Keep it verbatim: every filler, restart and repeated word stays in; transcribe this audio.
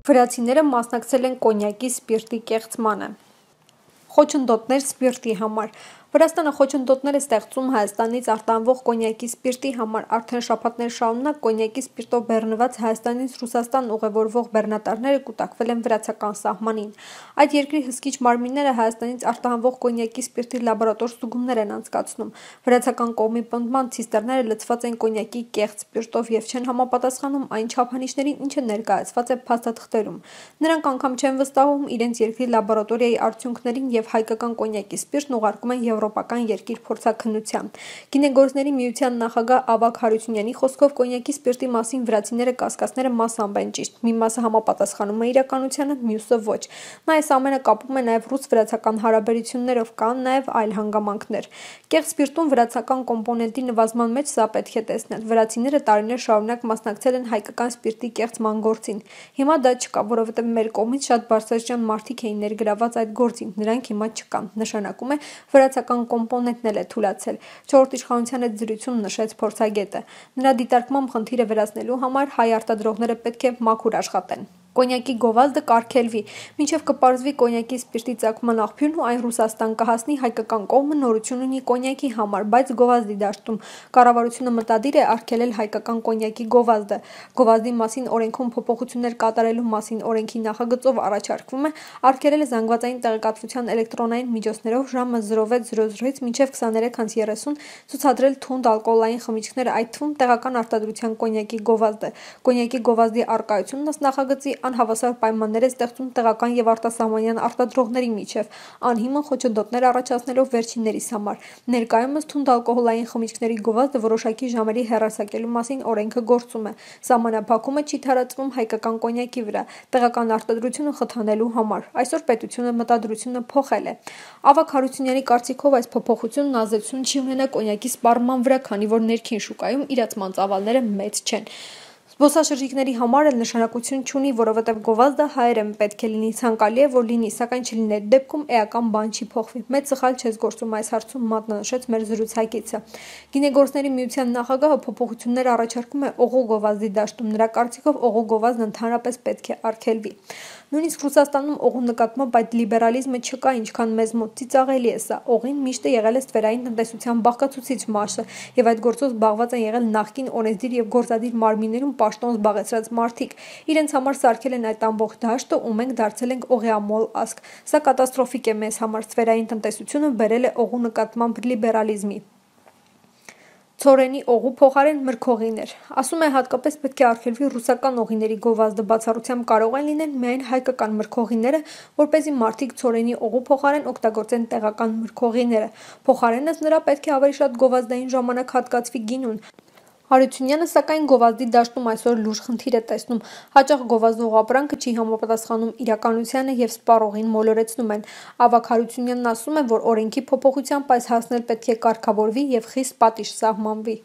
Վրացիները մասնակցել են կոնյակի սպիրտի կեղծմանը։ Խոչընդոտներ սպիրտի համար։ Վրաստանը խոչընդոտներ է ստեղծում Հայաստանից արտահանվող կոնյակի սպիրտի համար։ Արդեն շաբաթներ շարունակ կոնյակի սպիրտով բեռնված Հայաստանից Ռուսաստան ուղևորվող բեռնատարները կուտակվել են վրացական սահմանին։ Այդ երկրի հսկիչ մարմինները Հայաստանից արտահանվող կոնյակի սպիրտի լաբորատոր ստուգումներ են անցկացնում։ Վրացական կողմի պնդման ցիստերները լցված են կոնյակի կեղծ սպիրտով եւ չեն համապատասխանում այն չափանիշներին, ինչը ներկայացված է փաստաթղթերում։ Նրանք անգամ չեն վստահում իրենց երկրի լաբորատորիայի արդյունքներին եւ հայկական կոնյակի սպիրտն ուղարկում են եվրոպական երկիր փորձաքննության։ Գինեգործների միության նախագահ Ավագ Հարությունյանի խոսքով կոնյակի սպիրտի մասին վրացիները կասկածները մասամբ են ճիշտ։ Մի մասը համապատասխանում է իրականությանը, մյուսը ոչ։ Նա այս ամենը կապում է նաեւ ռուս-վրացական հարաբերություններով, կան նաեւ այլ հանգամանքներ։ Կեղծ սպիրտում վրացական կոմպոնենտի նվազման մեջ սա պետք է տեսնել։ Վրացիները տարիներ շարունակ մասնակցել են հայկական սպիրտի կեղծման գործին։ Հիմա դա չկա, որովհետեւ մեր կողմից շատ բարձրաստիճան մարդիկ էին ներգրաված այդ գործին, նրանք հիմա չկան։ Նշանակում է վրացական կոմպոնենտն էլ է թուլացել։ Չորրորդ իշխանության հետ զրույցում նշեց փորձագետը։ Նրա դիտարկմամբ խնդիրը վերացնելու համար հայ արտադրողները պետք է մաքուր աշխատեն։ Կոնյակի գովազդը կարգելվի, մինչև կպարզվի կոնյակի սպիրտի ծագման աղբյուրն ու այն Ռուսաստան կհասնի, հայկական կողմը նորություն ունի կոնյակի համար, բայց գովազդի դաշտում կառավարությունը մտադիր է արգելել հայկական կոնյակի գովազդը։ Գովազդի մասին օրենքում փոփոխություններ կատարելու մասին օրենքի նախագծով առաջարկվում է արգելել զանգվածային տեղեկատվության էլեկտրոնային միջոցներով ժամը զրո վեց զրո զրոից մինչև քսաներեք անց երեսուն ցուցադրել թունդ ալկոհոլային խմիչքներ, այդ թվում տեղական արտադրության կոնյակի գովազդը։ Կոնյակի գովազդի առկայությունն ըստ նախագծի անհավասար պայմաններ է ստեղծում տեղական եւ արտասահմանյան արտադրողների միջև, անհիմն խոչընդոտներ առաջացնելով վերջիններիս համար։ Ներկայումս թունդ ալկոհոլային խմիչքների գովազդը որոշակի ժամերի հեռարձակելու մասին օրենքը գործում է։ Սահմանափակումը չի թարացվում հայկական կոնյակի վրա, տեղական արտադրությունը խթանելու համար։ Այսօր պետությունը մտադրությունը փոխել է։ Ավագ Հարությունյանի կարծիքով այս փոփոխությունն ազդեցություն չի ունենա կոնյակի սպառման վրա, քանի որ ներքին շուկայում իրացման ծավալները մեծ չեն։ Զբոսաշրջիկների համար էլ նշանակություն չունի, որովհետև գովազդը հայերեն պետք է լինի, ցանկալի է, որ լինի, սակայն չլինի այդ դեպքում էական բան չի փոխվի։ Մեծ սխալ չես գործում այս հարցում, մատնանշեց մեր զրուցակիցը։ Գինեգործների միության նախագահը փոփոխություններ առաջարկում է օղու գովազդի դաշտում։ Նրա կարծիքով օղու գովազդն ընդհանրապես պետք է արգելվի։ Նույնիսկ Ռուսաստանում օղու նկատմամբ այդ լիբերալիզմը չկա, ինչքան մեզ մոտ ծիծաղելի է սա։ Օղին միշտ է եղել է ստվերային տնտեսության բաղկացուցիչ մասը, եւ այդ գործով զբաղված են եղել նախկին օրենսդիր եւ գործադիր մարմիններում պաշտոն զբաղեցրած մարդիկ։ Իրենց համար սարքել են այդ ամբողջ դաշտը ու մենք դարձել ենք օղեամոլ ազգ։ Սա կատաստրոֆիկ է մեզ համար, ստվերային տնտեսությունը բերել է օղու նկատմամբ լիբերալիզմի։ Ցորենի օղու փոխարեն մրգօղիներ։ Ասում է հատկապես պետք է արգելվի ռուսական օղիների գովազդը, բացառությամբ կարող են լինել միայն հայկական մրգօղիները, որպեսզի մարդիկ ցորենի օղու փոխարեն օգտագործեն տեղական մրգօղիները։ Փոխարենս նրա պետք է ավելի շատ գովազդային ժամանակ հատկացվի գինուն։ Հարությունյանը սակայն գովազդի դաշտում այսօր լուրջ խնդիր է տեսնում։ Հաճախ գովազդող ապրանքը չի համապատասխանում իրականությանը եւ սպառողին մոլորեցնում են։ Ավագ Հարությունյանն ասում է, որ օրենքի փոփոխությամբ այս հասնել պետք է կարգավորվի եւ խիստ պատիժ սահմանվի։